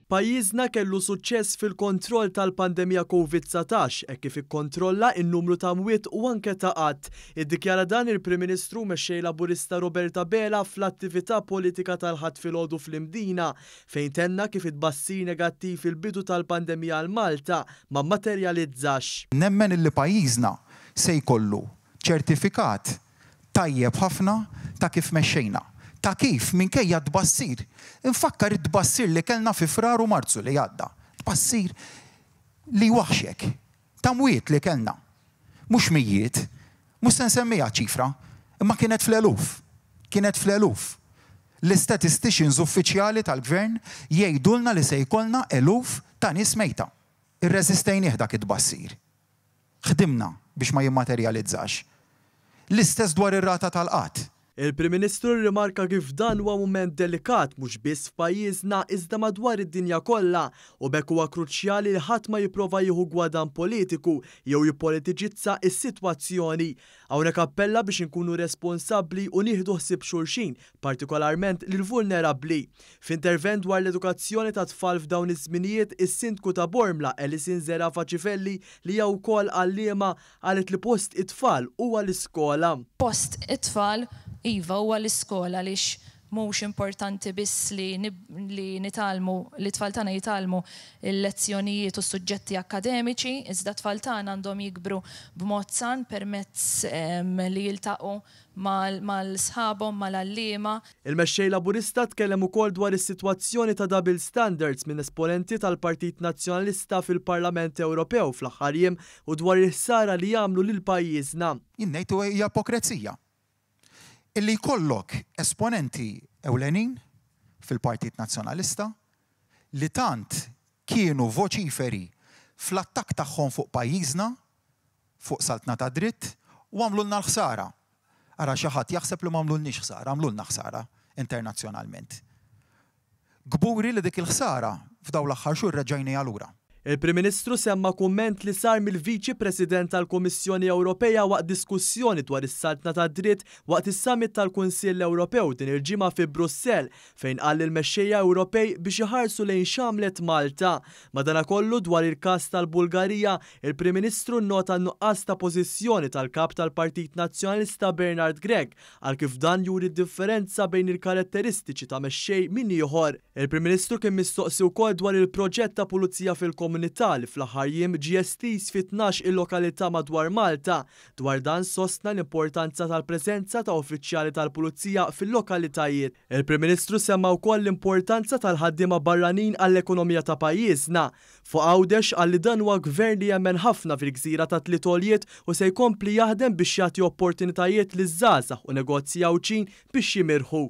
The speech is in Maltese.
Pajjiżna kellu suċċess fil-kontroll tal-pandemija Covid 19 hekk kif ikkontrolla n-numru ta' mwiet u anke ta' qgħad. Iddikjara dan il-Prim Ministru u Mexxej Laburista Robert Abela fl-attività politika tal-Ħadd filgħodu fl-Imdina fejn tenna kif it-tbassir negattiv fil-bidu tal-pandemija għal Malta ma mmaterjalizzax. Nemmen illi pajjiżna se jkollu ċertifikat tajjeb ħafna ta' kif mexxejna. Ta' kif, minkejja t-tbassir, infakkar it-tbassir li kellna fi Frar u Marzu li għadda, tbassir li jwaħħxek, ta' mwiet li kellna. Mhux mijiet, mhux se nsemmiha ċ-ċifra, imma kienet fl-eluf. Kienet fl-eluf. L-istatisticians uffiċjali tal-Gvern jgħidulna li se jkollna eluf ta' nies mejta. Irreżistejnieh dak it-tbassir. Ħdimna biex ma jimmaterjalizzax. L-istess dwar ir-rata tal-qgħad. Il-Prim Ministru rrimarka kif dan huwa mument delikat mhux biss f'pajjiżna iżda madwar id-dinja kollha u b'hekk huwa kruċjali li ħadd ma jipprova jieħu gwadann politiku jew jippolitiċizza s-sitwazzjoni. Hawnhekk appella biex inkunu responsabbli u nieħdu ħsieb xulxin, partikolarment lill-vulnerabbli. F'intervent dwar l-edukazzjoni tat-tfal f'dawn iż-żminijiet, is-Sindku ta' Bormla, Alison Zerafa Cifelli, li hija wkoll għalliema, qalet li post it-tfal huwa l-iskola. Post it-tfal, iva, huwa l-iskola għaliex mhux importanti biss li li nitgħallmu, li t-tfal tagħna jitgħallmu l-lezzjonijiet u s-suġġetti akkademiċi, iżda t-tfal tagħna għandhom jikbru b'mod san permezz li jiltaqgħu mal-sħabhom, mal-għalliema. Il-Mexxej Laburista tkellem ukoll dwar is-sitwazzjoni ta' double standards minn esponenti tal-Partit Nazzjonalista fil-Parlament Ewropew fl-aħħar jiem u dwar il-ħsara li jagħmlu lil pajjiżna. Jien ngħid hija ipokrezija illi jkollok esponenti ewlenin fil-Partit Nazzjonalista li tant kienu voċiferi fl-attakk tagħhom fuq pajjiżna, fuq saltna tad-dritt u għamlulna l-ħsara. Ara xi ħadd jaħseb li m'għamlulniex ħsara, għamlulna ħsara internazzjonalment. Kburi li dik il-ħsara f'dawn l-aħħar xhur reġġajniha lura. Il-Prim Ministru semma kumment li sar mill-Viċi President tal-Kummissjoni Ewropea waqt diskussjoni dwar is-saltna tad-dritt waqt is-Summit tal-Kunsill Ewropew din il-ġimgħa fi Brussell fejn qal lill-mexxejja Ewropej biex iħarsu lejn x'għamlet Malta. Madanakollu, dwar il-każ tal-Bulgarija, il-Prim Ministru nnota n-nuqqas ta' pożizzjoni tal-Kap tal-Partit Nazzjonalista Bernard Grech Qal kif dan juri d-differenza bejn il-karatteristiċi ta' mexxej minn ieħor. Il-Prim Ministru kien mistoqsi wkoll dwar il-proġett ta' Pulizija fil-Komunità li fl-aħħar jiem ġie estiż fi 12 il-lokalità madwar Malta. Dwar dan sostna l-importanza tal-preżenza ta' uffiċjali tal-Pulizija fil-lokalitajiet. Il-Prim Ministru semma wkoll l-importanza tal-ħaddiema barranin għall-ekonomija ta' pajjiżna. Fuq Għawdex qal li dan huwa gvern li jemmen ħafna fil-gżira tat-tliet għoljiet u se jkompli jaħdem biex jagħti opportunitajiet liż-żgħażagħ u negozji Għawdxin biex jimirħu.